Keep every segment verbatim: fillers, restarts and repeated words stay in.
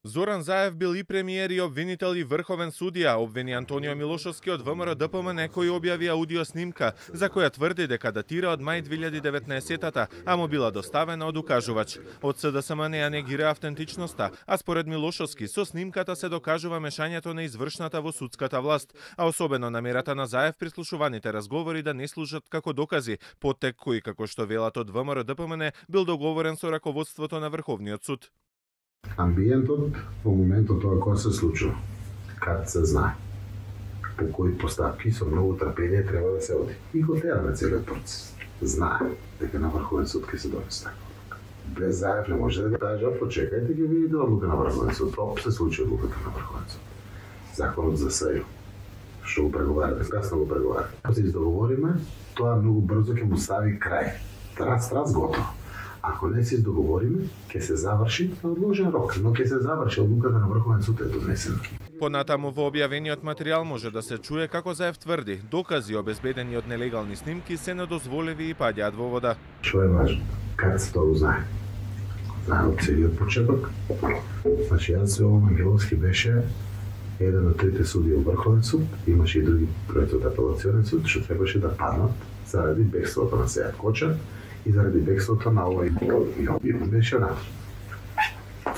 Зоран Заев бил и премиер и обвинител и врховен судија, обвини Антонио Милошовски од ВМРО Д П М Н кој објави аудио снимка, за која тврди дека датира од мај две илјади и деветнаесетта, а му била доставена од укажувач. Од С Д С М не ја негира автентичноста, а според Милошовски со снимката се докажува мешањето на извршната во судската власт, а особено намерата на Заев прислушуваните разговори да не служат како докази, поттек кој, како што велат од ВМРО Д П М Н, бил договорен со раководството на Врховниот суд. Амбиентот во моментот тоа кога се случува, кад се знае по кои постапки со многу трпение треба да се оди. И го тераме целиот процес. Знае дека на Врховен суд ќе се донесе така. Без Заев не може да го кажа, почекајте ќе видите одлука на Врховен суд. Топ се случи одлуката на Врховен суд. Законот за СЈО, што го преговараме, касно го преговараме. Ако се издоговориме, тоа многу брзо ќе му стави крај. Трац, трац, готово. Ако не се договориме, ќе се заврши на одложен рок, но ќе се заврши одлуката на Врховен суд е донесена. Понатаму во објавениот материјал може да се чуе како Заев тврди, докази обезбедени од нелегални снимки се недозволиви и паѓаат во вода. Што е важно? Кад се тоа знае? Знае од целиот почеток. Значи, јас се овој Ангеловски беше еден од трите судии во Врховен суд, имаше и други проекти од апелационен суд, што требаше да паднат заради бегството на Сејат Коча и заради бегството на овој Јо. Беше онako.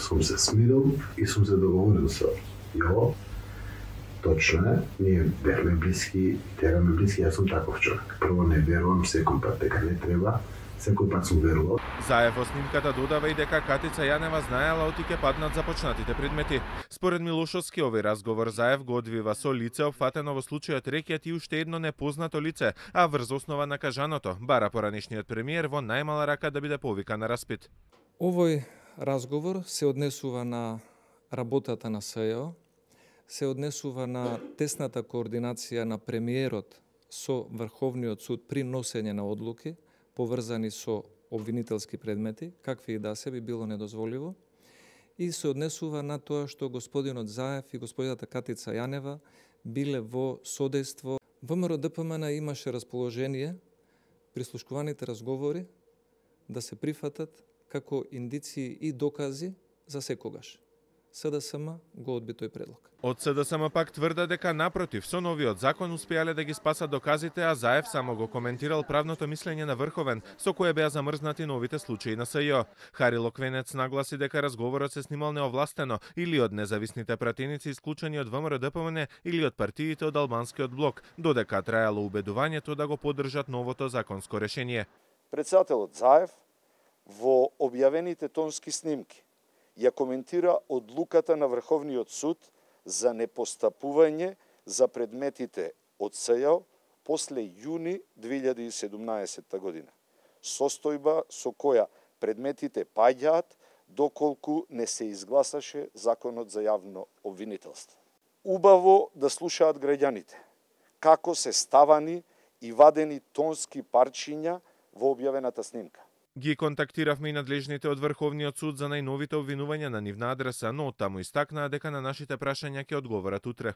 Сум се смирил и сум се договорил со Јо. Точно е, ние бевме блиски, тераме блиски, јас сум таков човек. Прво не верувам секој пат дека не треба, секој пат сум верувал. Заев во снимката додава и дека Катица Јанева знаела оти ќе паднат започнатите предмети. Според Милошовски, овој разговор Заев го одвива со лице опфатено во случајот рекет и уште едно непознато лице, а врз основа на кажаното, бара поранешниот премиер во најмала рака да биде повикан на распит. Овој разговор се однесува на работата на СЈО, се однесува на тесната координација на премиерот со Врховниот суд при носење на одлуки, поврзани со обвинителски предмети, какви и да се би било недозволиво, и се однесува на тоа што господинот Заев и господината Катица Јанева биле во содејство. ВМРО Д П М Н имаше расположение прислушкуваните разговори да се прифатат како индиции и докази за секогаш. С Д С М го одби тој предлог. Од С Д С М пак тврда дека напротив, со новиот закон успеале да ги спасат доказите, а Заев само го коментирал правното мислење на Врховен, со кое беа замрзнати новите случаи на СЈО. Харило Квенец нагласи дека разговорот се снимал неовластено или од независните пратеници исклучени од ВМРО Д П М Н или од партиите од албанскиот блок, додека траело убедувањето да го поддржат новото законско решение. Претседателот Заев во објавените тонски снимки ја коментира одлуката на Врховниот суд за непостапување за предметите од СЈО после јуни две илјади и седумнаесетта година. Состојба со која предметите паѓаат доколку не се изгласаше законот за јавно обвинителство. Убаво да слушаат граѓаните како се ставани и вадени тонски парчиња во објавената снимка. Ги контактиравме и надлежните од Врховниот суд за најновите обвинувања на нивна адреса, но таму истакнаа дека на нашите прашања ќе одговорат утре.